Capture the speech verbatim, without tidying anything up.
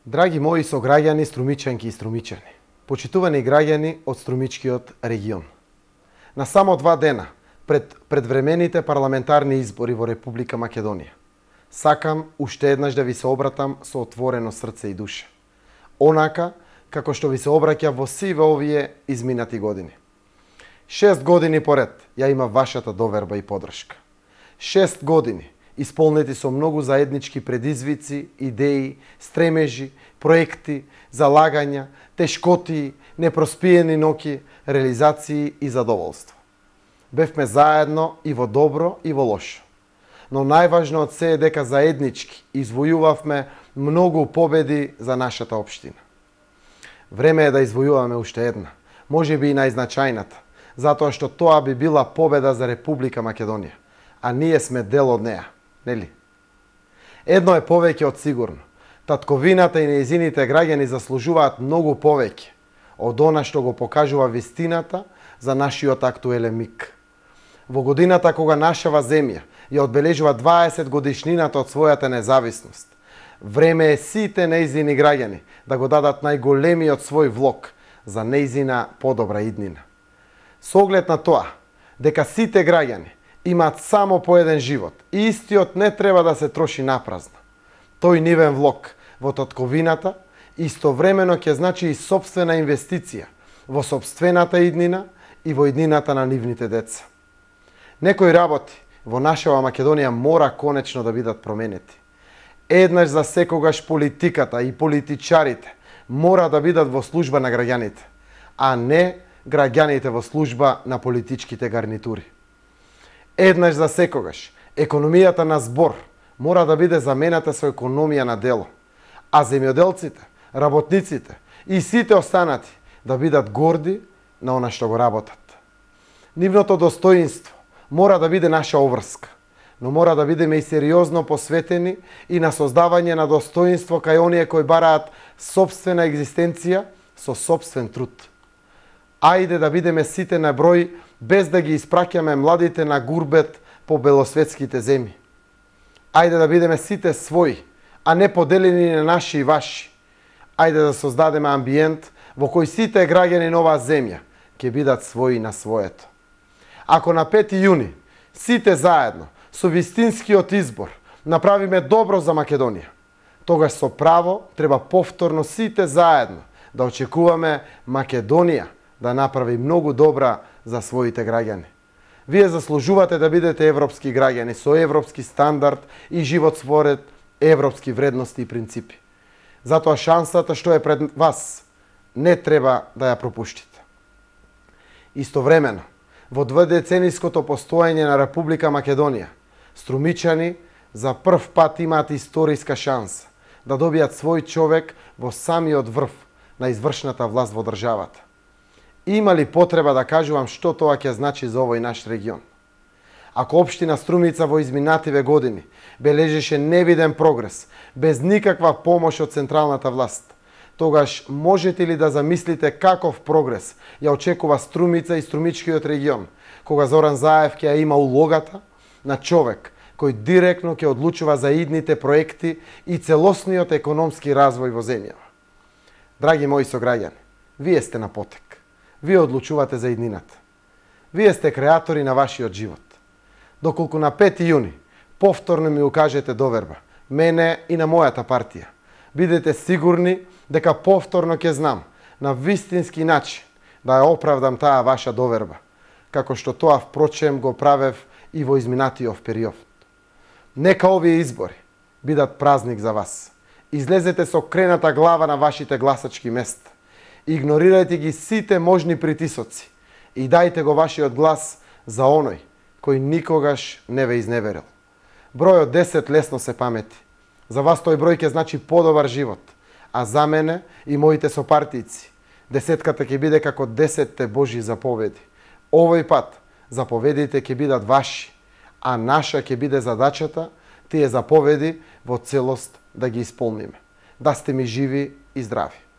Драги мои сограѓани, струмичанки и струмичани, почитувани граѓани од Струмичкиот регион. На само два дена пред предвремените парламентарни избори во Република Македонија, сакам уште еднаш да ви се обратам со отворено срце и душа. Онака како што ви се обраќа во сиве овие изминати години. Шест години поред ја има вашата доверба и подршка. Шест години исполнети со многу заеднички предизвици, идеи, стремежи, проекти, залагања, тешкоти, непроспиени ноќи, реализации и задоволство. Бевме заедно и во добро и во лошо. Но најважно од се е дека заеднички извојувавме многу победи за нашата општина. Време е да извојуваме уште една, можеби и најзначајната, затоа што тоа би била победа за Република Македонија, а ние сме дел од неа, нели? Едно е повеќе од сигурно. Татковината и нејзините граѓани заслужуваат многу повеќе од она што го покажува вистината за нашиот актуелен миг. Во годината кога нашава земја ја одбележува дваесет годишнината од својата независност, време е сите нејзини граѓани да го дадат најголемиот свој влог за нејзина подобра иднина. Со оглед на тоа дека сите граѓани имаат само по еден живот и истиот не треба да се троши напразно, тој нивен влог во татковината истовремено ќе значи и сопствена инвестиција во сопствената иднина и во иднината на нивните деца. Некои работи во нашава Македонија мора конечно да бидат променети. Еднаш за секогаш политиката и политичарите мора да бидат во служба на граѓаните, а не граѓаните во служба на политичките гарнитури. Еднаш за секогаш економијата на збор мора да биде замената со економија на дело, а земјоделците, работниците и сите останати да бидат горди на она што го работат. Нивното достоинство мора да биде наша обврска, но мора да бидеме и сериозно посветени и на создавање на достоинство кај оние кои бараат сопствена екзистенција со сопствен труд. Ајде да бидеме сите на број без да ги испраќаме младите на гурбет по белосветските земји. Ајде да бидеме сите своји, а не поделени на наши и ваши. Ајде да создадеме амбиент во кој сите граѓани на оваа земја ќе бидат своји на своето. Ако на пети јуни сите заедно со вистинскиот избор направиме добро за Македонија, тогаш со право треба повторно сите заедно да очекуваме Македонија да направи многу добра за своите граѓани. Вие заслужувате да бидете европски граѓани со европски стандард и живот според европски вредности и принципи. Затоа шансата што е пред вас не треба да ја пропуштите. Истовремено, во дведецениското постоење на Република Македонија, струмичани за прв пат имаат историска шанса да добијат свој човек во самиот врв на извршната власт во државата. Има ли потреба да кажувам што тоа ќе значи за овој наш регион? Ако општина Струмица во изминативе години бележеше невиден прогрес, без никаква помош од централната власт, тогаш можете ли да замислите каков прогрес ја очекува Струмица и Струмичкиот регион, кога Зоран Заев ќе ја има улогата на човек кој директно ќе одлучува за идните проекти и целосниот економски развој во земјава? Драги мои сограѓани, вие сте на потек. Вие одлучувате за иднината. Вие сте креатори на вашиот живот. Доколку на пети јуни повторно ми укажете доверба, мене и на мојата партија, бидете сигурни дека повторно ќе знам на вистински начин да ја оправдам таа ваша доверба, како што тоа впрочем го правев и во изминатиот период. Нека овие избори бидат празник за вас. Излезете со крената глава на вашите гласачки места. Игнорирајте ги сите можни притисоци и дајте го вашиот глас за оној кој никогаш не ве изневерил. Бројот десет лесно се памети. За вас тој број ќе значи подобар живот, а за мене и моите сопартици десетката ќе биде како десетте Божји заповеди. Овој пат заповедите ќе бидат ваши, а наша ќе биде задачата тие заповеди во целост да ги исполниме. Да сте ми живи и здрави.